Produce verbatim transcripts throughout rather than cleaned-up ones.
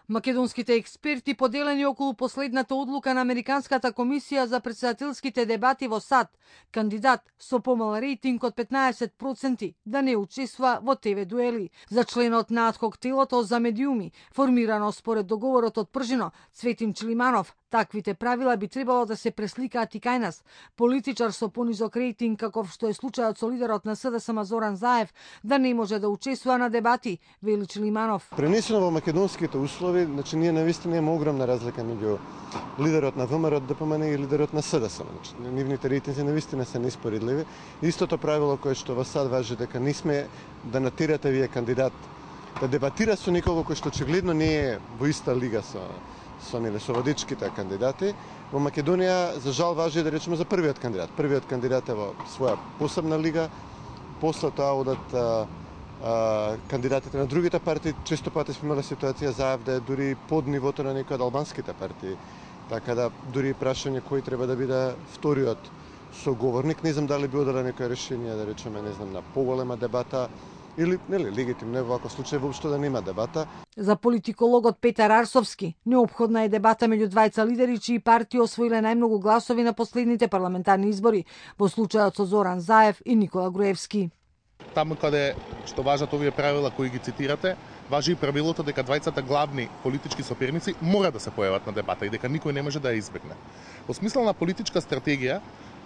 Македонските експерти поделени околу последната одлука на Американската комисија за претседателските дебати во САД, кандидат со помал рейтинг од петнаесет проценти да не учествува во ТВ дуели. За членот на адхок телото за медиуми, формирано според договорот од Пржино, Цветим Чилиманов, таквите правила би требало да се пресликаат и кај нас. Политичар со понизок рейтинг, каков што е случајот со лидерот на СДСМ Зоран Заев, да не може да учествува на дебати, вели Чилиманов. Пренесено во македонските услови, значи ние навистина имаме огромна разлика меѓу лидерот на ВМРО ДПМН и лидерот на СДСМ. Значи, нивните рейтинзи навистина се неспоредливи. Истото правило кое што во САД важи дека не сме да натирате вие кандидат да дебатира со некого кој што очигледно не е во иста лига со со нели со водичките кандидати. Во Македонија за жал важи да речеме за првиот кандидат. Првиот кандидат е во своја посебна лига. После тоа одат а, а, кандидатите на другите партии. Често пати сме имали ситуација за да е дури под нивото на некои од албанските партии. Така да дури прашање кој треба да биде вториот соговорник. Не знам дали би одела некој решение да речеме не знам на поголема дебата или нели легитимно е во ваков случај воопшто да нема дебата. За политикологот Петар Арсовски, неопходна е дебата меѓу двајца лидери чии партии освоиле најмногу гласови на последните парламентарни избори, во случајот со Зоран Заев и Никола Груевски. Таму каде што важат овие правила кои ги цитирате, важи и правилото дека двајцата главни политички соперници мора да се појават на дебата и дека никој не може да ја избегне. Во смисла на политичка стратегија,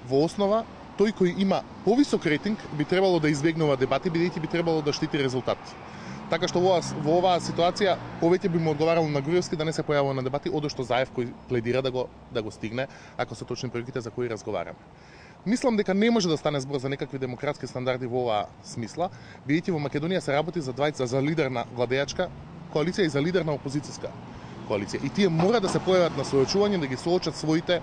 во основа тој кој има повисок рейтинг би требало да избегнува дебати, бидејќи би требало да штити резултат. Така што во, во оваа ситуација повеќе би му одговарало на Груевски да не се појавува на дебати, одошто Заев кој пледира да го да го стигне, ако се точни проеките за кои разговараме. Мислам дека не може да стане збор за некакви демократски стандарди во оваа смисла, бидејќи во Македонија се работи за двајца за лидер на владеачка коалиција и за лидер на опозицијска коалиција. И тие мора да се појават на соочување да ги соочат своите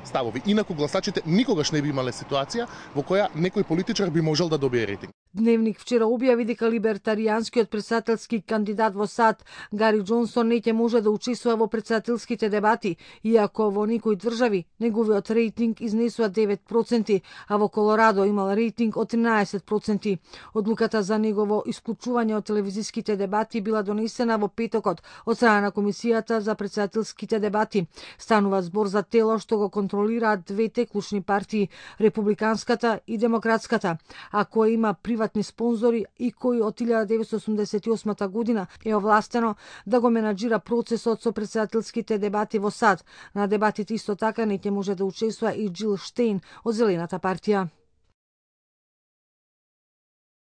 ставови. Инаку гласачите никогаш не би имале ситуација во која некој политичар би можел да добие рейтинг. Дневник вчера објави дека либертаријанскиот претседателски кандидат во САД Гари Џонсон не ќе може да учествува во претседателските дебати, иако во некои држави неговиот рейтинг изнесува девет проценти, а во Колорадо имал рейтинг од тринаесет проценти. Одлуката за негово исклучување од телевизиските дебати била донесена во петокот од страна на Комисијата за претседателските дебати. Станува збор за тело што го контролираат двете клучни партии, републиканската и демократската, а кој има приватни спонзори и кој од илјада деветстотини осумдесет и осма година е овластено да го менаџира процесот со претседателските дебати во САД. На дебатите исто така не ќе може да учествува и Џил Штеин од Зелената партија.